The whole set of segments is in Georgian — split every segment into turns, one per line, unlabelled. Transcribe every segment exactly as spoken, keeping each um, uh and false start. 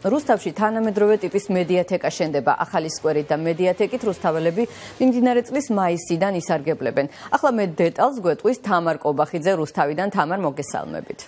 რუსთავში თანამედროვე ტიპის მედიათეკა შენდება. ახალი სკვერით და მედიათეკით რუსთაველები მიმდინარე წლის მაისიდან ისარგებლებენ. ახლა მე დეტალს გვეტყვის თამარ კობახიძე რუსთავიდან. თამარ, მოგესალმებით.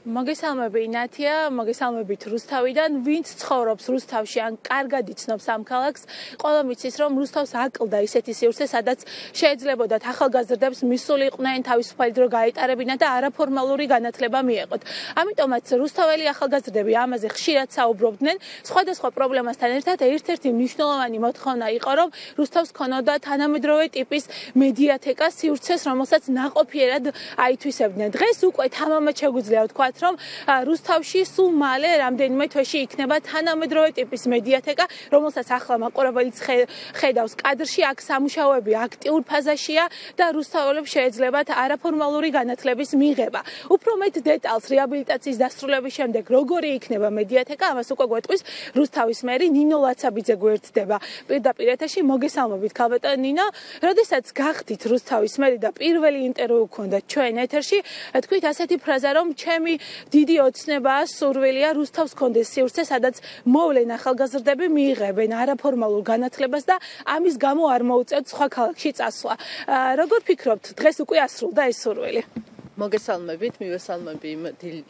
მოგესალმებით ნათია, მოგესალმებით რუსთავიდან. ვინც ცხოვრობს რუსთავში ან კარგად იცნობს ამ ქალაქს, ყველამ იცის, რომ რუსთავს აკლდა ისეთი სივრცე, სადაც შეიძლებოდა ახალგაზრდებს მისულიყვნენ თავისუფალი დრო გაეტარებინათ და არაფორმალური განათლება მიეღოთ. ამიტომაც რუსთაველი ახალგაზრდები ამაზე ხშირად საუბრობდნენ. სხვადასხვა პრობლემასთან ერთად ერთ-ერთი მნიშვნელოვანი მოთხოვნა იყო, რომ რუსთავს ქონოდა თანამედროვე ტიპის მედიათეკა სივრცეს, რომელსაც ნაყოფიერად აითვისებდნენ. დღეს უკვე თამამად შეგვიძლია ვთქვა, რომ რუსთავში სულ მალე რამდენიმე თვეში იქნება თანამედროვე ტიპის მედიათეკა, რომელსაც ახლა მაყურებელიც ხედავს კადრში. აქ სამუშაოები აქტიურ ფაზაშია და რუსთაველებს შეეძლებათ არაფორმალური განათლების მიღება. უფრო მეტ დეტალს რეაბილიტაციის დასრულების შემდეგ როგორი იქნება მედიათეკა, ამას უკვე გვეტყვის რუსთავის მერი ნინო ლაცაბიძე გვერდდება პირდაპირ ეთერში. მოგესალმებით ქალბატონ ნინო, როდესაც გახდით რუსთავის მერი და პირველი ინტერვიუ გქონდა ჩვენ ეთერში, თქვით ასეთი ფრაზა, რომ ჩემი დიდი ოცნებაა, სურვილია რუსთავს კონდეს სივრცე, სადაც მოვლენ ახალგაზრდები მიიღებენ არაფორმალურ განათლებას და ამის გამო არ მოუწევთ სხვა ქალაქში წასვლა. როგორ ფიქრობთ, დღეს უკვე ასრულდა ეს სურვილი?
მოგესალმებით, მივესალმები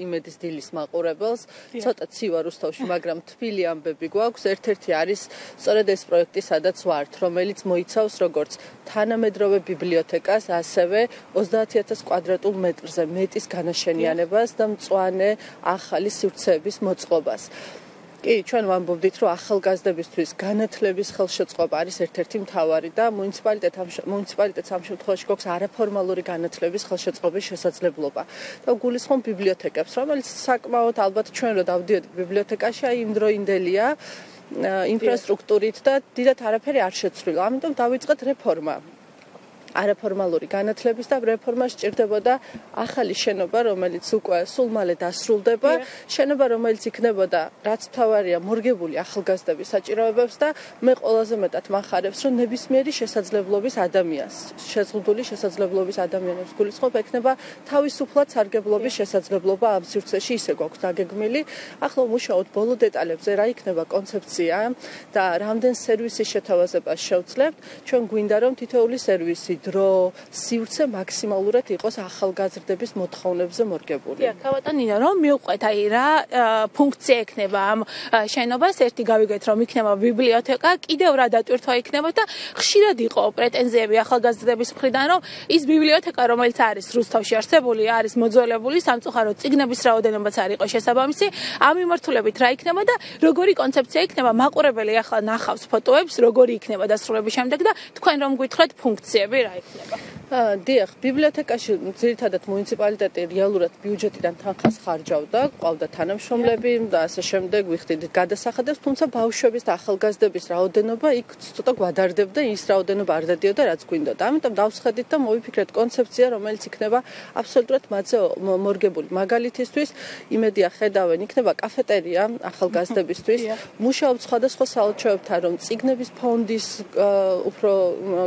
იმედის დილის მაყურებელს. ცოტა ცივა რუსთავში, მაგრამ თბილი ამბები გვაქვს. ერთ-ერთი არის სწორედ ეს პროექტი, სადაც ვართ, რომელიც მოიცავს როგორც თანამედროვე ბიბლიოთეკას, ასევე ოცდაათი ათას კვადრატულ მეტრზე მეტის განაშენიანებას და მწვანე ახალი სივრცეების მოწყობას. კი, ჩვენ ვამბობდით, რომ ახალგაზრდებისთვის განათლების ხელშეწყობა არის ერთ-ერთი მთავარი და მუნიციპალიტეტს ამ შემთხვევაში გვაქვს არაფორმალური განათლების ხელშეწყობის შესაძლებლობა. და გულისხმობ ბიბლიოთეკებს, რომელიც საკმაოდ ალბათ ჩვენ რო დავდიოდით ბიბლიოთეკაში, აი იმდროინდელია ინფრასტრუქტურით და დიდად არაფერი არ შეცვლილა. ამიტომ დავიწყეთ რეფორმა. არაფორმალური განათლების და რეფორმა სჭირდებოდა ახალი შენობა, რომელიც უკვე სულ მალე დასრულდება, შენობა, რომელიც იქნებოდა რაც მთავარია მორგებული ახალგაზრდების საჭიროებებს და მე ყველაზე მეტად მახარებს, რომ ნებისმიერი შესაძლებლობის ადამიანს, შეზღუდული შესაძლებლობის ადამიანებს გულისხმობ, ექნება თავისუფლად სარგებლობის შესაძლებლობა ამ სივრცეში, ისე გვაქვს დაგეგმილი. ახლა ვმუშაობთ ბოლო დეტალებზე, რა იქნება კონცეფცია და რამდენ სერვისის შეთავაზებას შევძლებთ. ჩვენ გვინდა, რომ თითოეული სერვისი დრო, სივრცე მაქსიმალურად იყოს ახალგაზრდების მოთხოვნებზე მორგებული.
დიახ, ქალბატონ ნინო, რომ მივყვეთ, აი რა ფუნქცია ექნება ამ შენობას, ერთი გავიგეთ, რომ იქნება ბიბლიოთეკა, კიდევ რა დატვირთვა იქნება და ხშირად იყო პრეტენზიები ახალგაზრდების მხრიდან, რომ ის ბიბლიოთეკა, რომელიც არის რუსთავში არსებული, არის მოძველებული, სამწუხაროდ წიგნების რაოდენობაც არ იყო შესაბამისი. ამ მიმართულებით რა იქნება და როგორი კონცეფცია იქნება, მაყურებელი ახლა ნახავს ფოტოებს, როგორი იქნება დასრულების შემდეგ და თქვენ რომ გვითხრათ ფუნქციები რა იქნება?
დიახ, ბიბლიოთეკაში ძირითადად მუნიციპალიტეტი რეალურად ბიუჯეტიდან თანხას ხარჯავდა, ყავდა თანამშრომლები და ასე შემდეგ, ვიხდით გადასახადებს, თუმცა ბავშვების და ახალგაზრდების რაოდენობა იქ ცოტა გვადარდებდა, ის რაოდენობა არ დადიოდა, რაც გვინდოდა. ამიტომ დავსხედით და მოვიფიქრეთ კონცეფცია, რომელიც იქნება აბსოლუტურად მათზე მორგებული. მაგალითისთვის, იმედია ხედავენ, იქნება კაფეტერია ახალგაზრდებისთვის, მუშაობთ სხვადასხვა საელჩოებთან, რომ წიგნების ფონდის უფრო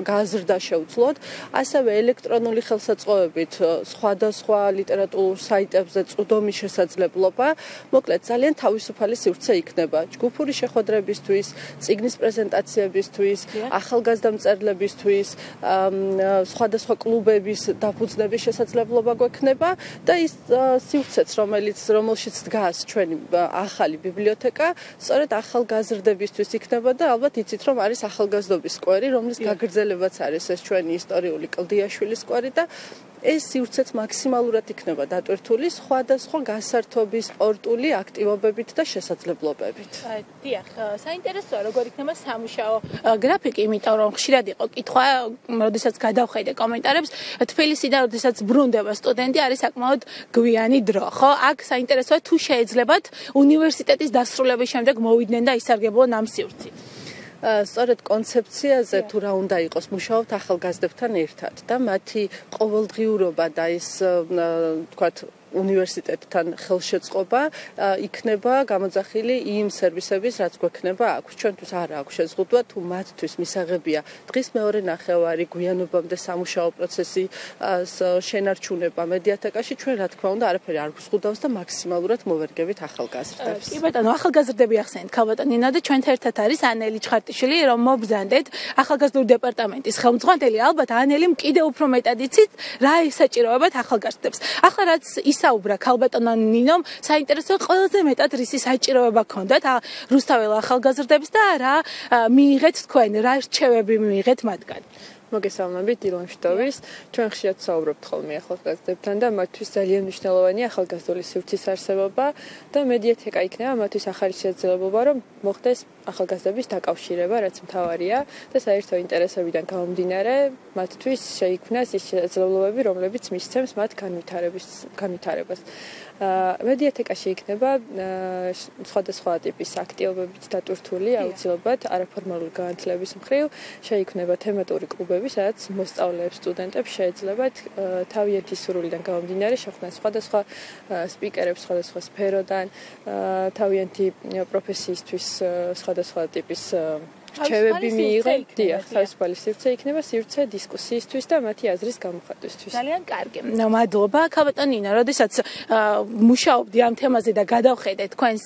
გაზრდა შეუძლოთ, ასევე ელექტრონული ხელსაწყოებით სხვადასხვა ლიტერატურულ საიტებზე წვდომის შესაძლებლობა. მოკლედ, ძალიან თავისუფალი სივრცე იქნება ჯგუფური შეხვედრებისთვის, წიგნის პრეზენტაციებისთვის, ახალგაზრდა მწერლებისთვის, სხვადასხვა კლუბების დაფუძნების შესაძლებლობა გვექნება და ის სივრცეც, რომელიც რომელშიც დგას ჩვენი ახალი ბიბლიოთეკა, სწორედ ახალგაზრდებისთვის იქნება და ალბათ იცით, რომ არის ახალგაზრდობის სკვერი, რომლის გაგრძელებაც არის ეს ჩვენი ისტორიული კლდიაშვილის სკვერი და ეს სივრცეც მაქსიმალურად იქნება დატვირთული სხვადასხვა გასართობი სპორტული აქტივობებით და შესაძლებლობებით.
დიახ, საინტერესოა როგორ იქნება სამუშაო გრაფიკი, იმიტომ რომ ხშირად იყო კითხვა, როდესაც გადავხედე კომენტარებს, თბილისიდან როდესაც ბრუნდება სტუდენტი არის საკმაოდ გვიანი დრო, ხო? აქ საინტერესოა თუ შეეძლებათ უნივერსიტეტის დასრულების შემდეგ მოვიდნენ და ისარგებლონ ამ სივრცით.
სწორედ კონცეფციაზე თუ რა უნდა იყოს, მუშაობთ ახალგაზრდებთან ერთად და მათი ყოველდღიურობა და ის თქვათ უნივერსიტეტთან ხელშეწყობა იქნება გამოძახილი იმ სერვისების, რაც გვექნება აქვს. ჩვენთვის არ აქვს შეზღუდვა, თუ მათთვის მისაღებია დღის მეორე ნახევარი, გვიანობამდე სამუშაო პროცესი, შენარჩუნება მედიათეკაში, ჩვენ რა თქმა უნდა არაფერი არ გვზღუდავს და მაქსიმალურად მოვერგებით ახალგაზრდებს.
კი ბატონო, ახალგაზრდები ახსენეთ, ქალბატონ ნინა და ჩვენთან ერთად არის ანელი ჩხარტიშვილი, რომ მობრძანდეთ ახალგაზრდული დეპარტამენტის ხელმძღვანელი. ალბათ ანელიმ კიდევ უფრო მეტად იცით, რა ესაჭიროებათ ახალგაზრდებს. ახლა რაც ისაუბრა ქალბატონმა ნინომ, საინტერესოა ყველაზე მეტად რისი საჭიროება ქონდათ რუსთაველ ახალგაზრდებს და რა მიიღეთ თქვენ, რა რჩევები მიიღეთ მათგან?
მოგესალმებით დილამშვიდობის. ჩვენ ხშირად საუბრობთ ხოლმე ახალგაზრდებთან და მათთვის ძალიან მნიშვნელოვანია ახალგაზრდული სივრცის არსებობა და მედიათეკა იქნება მათთვის ახალი შესაძლებლობა, რომ მოხდეს ახალგაზრდების დაკავშირება, რაც მთავარია და საერთო ინტერესებიდან გამომდინარე, მათთვის შეიქმნას ის შესაძლებლობები, რომლებიც მისცემს მათ განვითარებას. მედიათეკაში იქნება სხვადასხვა ტიპის აქტივობებით დატვირთული, აუცილებლად არაფორმალური განათლების მხრივ შეიქმნება თემატური კლუბები, სადაც მოსწავლეებს, სტუდენტებს შეეძლებათ თავიანთი სურვილიდან გამომდინარე შეხვდნენ სხვადასხვა სპიკერებს სხვადასხვა სფეროდან, თავიანთი პროფესიისთვის სხვადასხვა ტიპის რჩევები მიიღონ. დიახ, თავისუფალი სივრცე იქნება სივრცე დისკუსიისთვის და მათი აზრის გამოხატვისთვის.
ძალიან კარგი. მადლობა, ქალბატონ ნინა, როდესაც მუშაობდი ამ თემაზე და გადავხედე თქვენს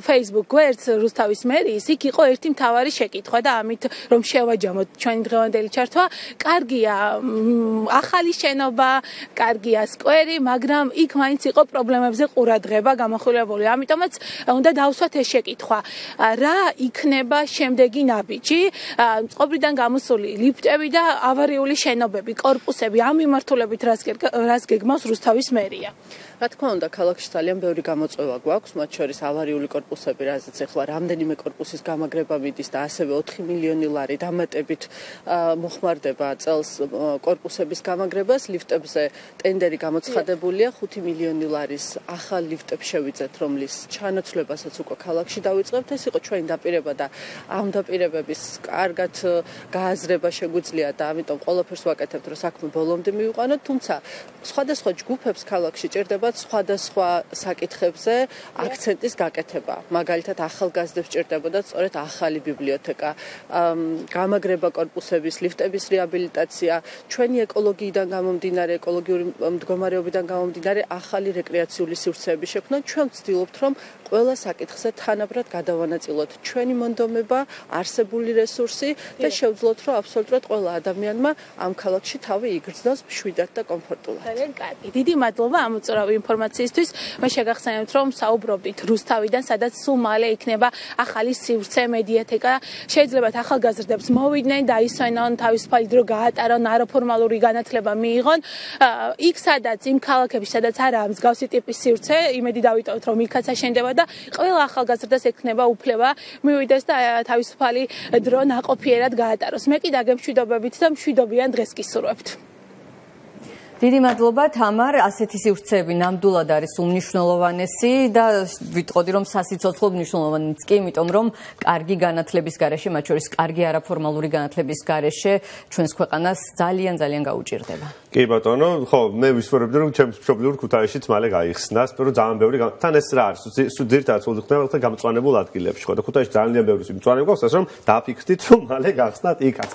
Facebook გვერდს რუსთავის მერიის, იქ იყო ერთი მთავარი შეკითხვა და ამით რომ შევაჯამოთ ჩვენი დღევანდელი ჩართვა. კარგია ახალი შენობა, კარგია სკვერი, მაგრამ იქ მაინც იყო პრობლემებზე ყურადღება გამახვილებული. ამიტომაც უნდა დავსვათ ეს შეკითხვა. რა იქნება შემდეგი ნაბიჯი, წყობრიდან გამოსული ლიფტები და ავარიული შენობები, კორპუსები, ამ მიმართულებით რას გეგმავს რუსთავის მერია?
რა თქმა უნდა, ქალაქში ძალიან ბევრი გამოწვევა გვაქვს, მათ შორის ავარიული კორპუსები, რაზეც ახლა რამდენიმე კორპუსის გამაგრება მიდის და ასევე ოთხი მილიონი ლარი დამატებით მოხმარდება წელს კორპუსების გამაგრებას. ლიფტებზე ტენდერი გამოცხადებულია, ხუთი მილიონი ლარის ახალ ლიფტებს შევიძეთ, რომლის ჩანაცვლებასაც უკვე ქალაქში დავიწყებთ. ეს იყო ჩვენი დაპირება და ამ დაპირებების კარგად გააზრება შეგვიძლია და ამიტომ ყველაფერს ვაკეთებთ, რომ საქმე ბოლომდე მივიყვანოთ, თუმცა სხვადასხვა ჯგუფებს ქალაქში ჭირდება სხვადასხვა საკითხებზე აქცენტის გაკეთება. მაგალითად, ახალგაზრდებს ჭირდებოდათ სწორედ ახალი ბიბლიოთეკა, გამაგრება კორპუსების, ლიფტების რეაბილიტაცია, ჩვენი ეკოლოგიიდან გამომდინარე, ეკოლოგიური მდგომარეობიდან გამომდინარე ახალი რეკრეაციული სივრცეების შექმნა. ჩვენ ვცდილობთ, რომ ყველა საკითხზე თანაბრად გადავანაწილოთ ჩვენი მონდომება, არსებული რესურსი და შევძლოთ, რომ აბსოლუტურად ყველა ადამიანმა ამ ქალაქში თავი იგრძნოს მშვიდად და კომფორტულად.
ძალიან კარგი. დიდი მადლობა ამ უწურავი ინფორმაციისთვის. მე შეგახსენებთ, რომ საუბრობდით რუსთავიდან, სადაც სულ მალე იქნება ახალი სივრცე მედიათეკა. შეიძლებათ ახალგაზრდებს მოვიდნენ და ისვენონ, თავისუფალი დრო გაატარონ, არაფორმალური განათლება მიიღონ. იქ სადაც იმ ქალაქებში, სადაც არაა მსგავსი ტიპის სივრცე, იმედი დავიტოვოთ, რომ იქაც აშენდება და ყველა ახალგაზრდას ექნება უფლება მივიდეს და თავისუფალი დრო ნაყოფიერად გაატაროს. მე კი დაგემშვიდობებით და მშვიდობიან დღეს გისურვებთ.
დიდი მადლობა თამარ, ასეთი სივრცეები ნამდვილად არის უმნიშვნელოვანესი და ვიტყოდი რომ სასიცოცხლო მნიშვნელოვანიც კი, იმიტომ რომ კარგი განათლების გარეშე, მათ შორის კარგი არაფორმალური განათლების გარეშე ჩვენს ქვეყანას ძალიან ძალიან გაუჭირდება.
კი ბატონო, ხო, მე ვისურვებდი რომ ჩემს მშობლიურ ქუთაისშიც მალე გაიხსნას, მაგრამ ძალიან ბევრი თან ეს რა არის, ძირითადად სულ ხდება ხა გამწვანებულ ადგილებში, ხო და ქუთაისში ძალიან ბევრი მწვანე გვაქვს, ასე რომ დაფიქრდით რომ მალე გახსნათ იქაც.